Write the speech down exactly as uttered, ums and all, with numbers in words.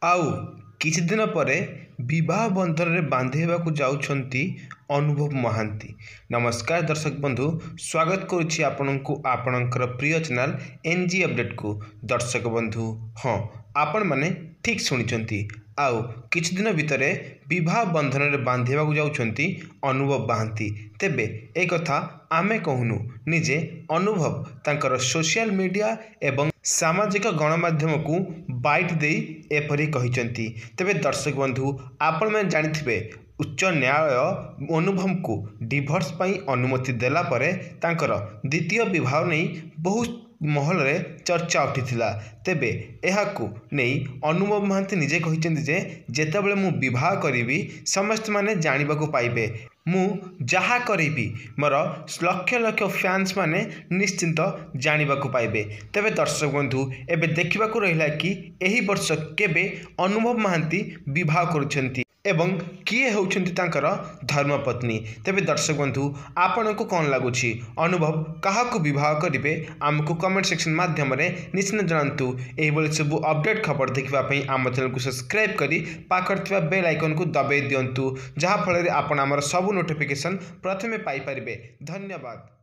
ଆଉ କିଛି ଦିନ ପରେ ବିବାହ ବନ୍ଧନରେ ବାନ୍ଧି ହେବାକୁ ଯାଉଛନ୍ତି ଅନୁଭବ ମହାନ୍ତି। ନମସ୍କାର ଦର୍ଶକ ବନ୍ଧୁ, ସ୍ୱାଗତ କରୁଛି ଆପଣଙ୍କୁ ଆପଣଙ୍କର ପ୍ରିୟ ଚ୍ୟାନେଲ୍ ଏନ୍ ଜି ଅପଡ଼େଟ୍କୁ। ଦର୍ଶକ ବନ୍ଧୁ, ହଁ, ଆପଣମାନେ ଠିକ୍ ଶୁଣିଛନ୍ତି, ଆଉ କିଛି ଦିନ ଭିତରେ ବିବାହ ବନ୍ଧନରେ ବାନ୍ଧି ହେବାକୁ ଯାଉଛନ୍ତି ଅନୁଭବ ମହାନ୍ତି। ତେବେ ଏ କଥା ଆମେ କହୁନୁ, ନିଜେ ଅନୁଭବ ତାଙ୍କର ସୋସିଆଲ ମିଡ଼ିଆ ଏବଂ ସାମାଜିକ ଗଣମାଧ୍ୟମକୁ ବାଇଟ୍ ଦେଇ ଏପରି କହିଛନ୍ତି। ତେବେ ଦର୍ଶକ ବନ୍ଧୁ, ଆପଣମାନେ ଜାଣିଥିବେ ଉଚ୍ଚ ନ୍ୟାୟାଳୟ ଅନୁଭବଙ୍କୁ ଡିଭୋର୍ସ ପାଇଁ ଅନୁମତି ଦେଲା ପରେ ତାଙ୍କର ଦ୍ୱିତୀୟ ବିବାହ ନେଇ ବହୁ ମହଲରେ ଚର୍ଚ୍ଚା ଉଠିଥିଲା। ତେବେ ଏହାକୁ ନେଇ ଅନୁଭବ ମହାନ୍ତି ନିଜେ କହିଛନ୍ତି ଯେ ଯେତେବେଳେ ମୁଁ ବିବାହ କରିବି ସମସ୍ତେମାନେ ଜାଣିବାକୁ ପାଇବେ। ମୁଁ ଯାହା କରିବି ମୋର ଲକ୍ଷ ଲକ୍ଷ ଫ୍ୟାନ୍ସ ମାନେ ନିଶ୍ଚିନ୍ତ ଜାଣିବାକୁ ପାଇବେ। ତେବେ ଦର୍ଶକ ବନ୍ଧୁ, ଏବେ ଦେଖିବାକୁ ରହିଲା କି ଏହି ବର୍ଷ କେବେ ଅନୁଭବ ମହାନ୍ତି ବିବାହ କରୁଛନ୍ତି ଏବଂ କିଏ ହେଉଛନ୍ତି ତାଙ୍କର ଧର୍ମପତ୍ନୀ। ତେବେ ଦର୍ଶକ ବନ୍ଧୁ, ଆପଣଙ୍କୁ କ'ଣ ଲାଗୁଛି, ଅନୁଭବ କାହାକୁ ବିବାହ କରିବେ? ଆମକୁ କମେଣ୍ଟ ସେକ୍ସନ ମାଧ୍ୟମରେ ନିଶ୍ଚିତ ଜଣାନ୍ତୁ। ଏହିଭଳି ସବୁ ଅପଡ଼େଟ୍ ଖବର ଦେଖିବା ପାଇଁ ଆମ ଚ୍ୟାନେଲକୁ ସବସ୍କ୍ରାଇବ୍ କରି ପାଖରେ ଥିବା ବେଲ୍ ଆଇକନ୍କୁ ଦବାଇ ଦିଅନ୍ତୁ, ଯାହାଫଳରେ ଆପଣ ଆମର ସବୁ ନୋଟିଫିକେସନ୍ ପ୍ରଥମେ ପାଇପାରିବେ। ଧନ୍ୟବାଦ।